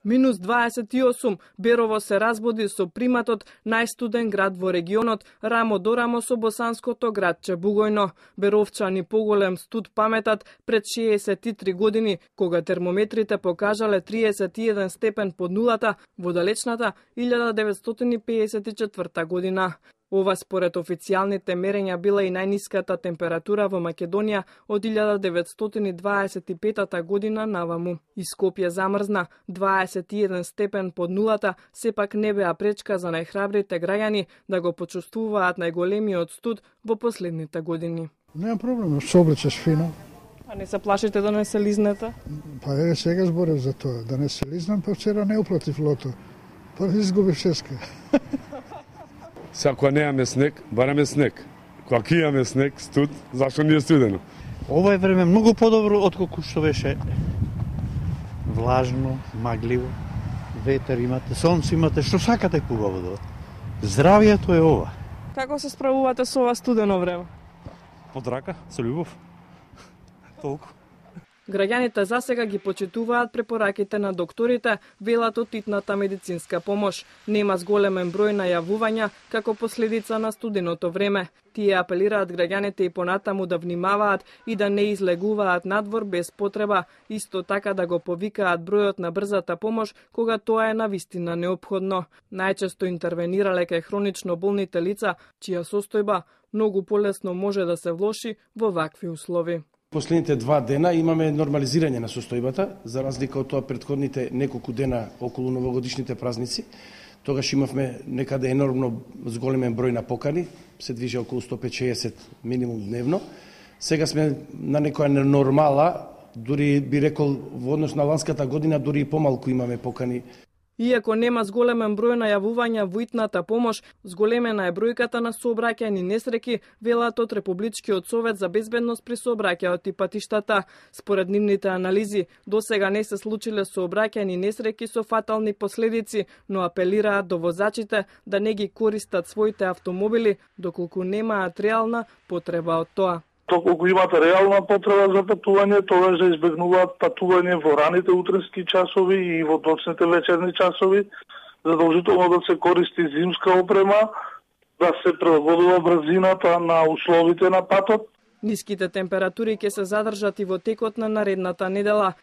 Минус 28, Берово се разбуди со приматот најстуден град во регионот, рамо до рамо со босанското градче Бугојно. Беровчани поголем студ паметат пред 63 години, кога термометрите покажале 31 степен под нулата во далечната 1954 година. Ова според официјалните мерења била и најниската температура во Македонија од 1925 година наваму. И Скопје замрзна 21 степен под нулата, сепак не беа пречка за најхрабрите граѓани да го почувствуваат најголемиот студ во последните години. Нема проблем, се облечеш фино. А не се плашите да не се лизнете? Па еве сега зборев за тоа, да не се лизнам, па вчера не уплатив лото. Па изгубив шеска. Сега кога немаме снег, бараме снег. Кога ќе имаме снег, студ, зашто не е студено? Ова е време многу подобро отколку што беше влажно, магливо, ветер имате, сонце имате, што сакате хубаво да. Здравието е ова. Како се справувате со ова студено време? Под рака, со љубов. Толку. Граѓаните засега ги почитуваат препораките на докторите, велат од итната медицинска помош. Нема зголемен број најавувања како последица на студеното време. Тие апелираат граѓаните и понатаму да внимаваат и да не излегуваат надвор без потреба, исто така да го повикаат бројот на брзата помош кога тоа е навистина неопходно. Најчесто интервенирале кај хронично болните лица, чија состојба многу полесно може да се влоши во вакви услови. Последните 2 дена имаме нормализирање на состојбата, за разлика од тоа претходните неколку дена околу новогодишните празници. Тогаш имавме некаде енормно зголемен број на покани, се движи околу 150-60 минимум дневно. Сега сме на некоја нормала, дури би рекол во однос на ланската година, дури и помалку имаме покани. Иако нема зголемен број најавувања во итната помош, зголемена е бројката на сообраќајни несреки, велат од Републичкиот совет за безбедност при сообраќајот и патиштата. Според нивните анализи, досега не се случиле сообраќајни несреки со фатални последици, но апелираат до возачите да не ги користат своите автомобили доколку немаат реална потреба од тоа. Доколку имате реална потреба за патување, тогаш да избегнуваат патување во раните утренски часови и во доцните вечерни часови, задолжително да се користи зимска опрема, да се прилагодува брзината на условите на патот. Ниските температури ќе се задржат и во текот на наредната недела.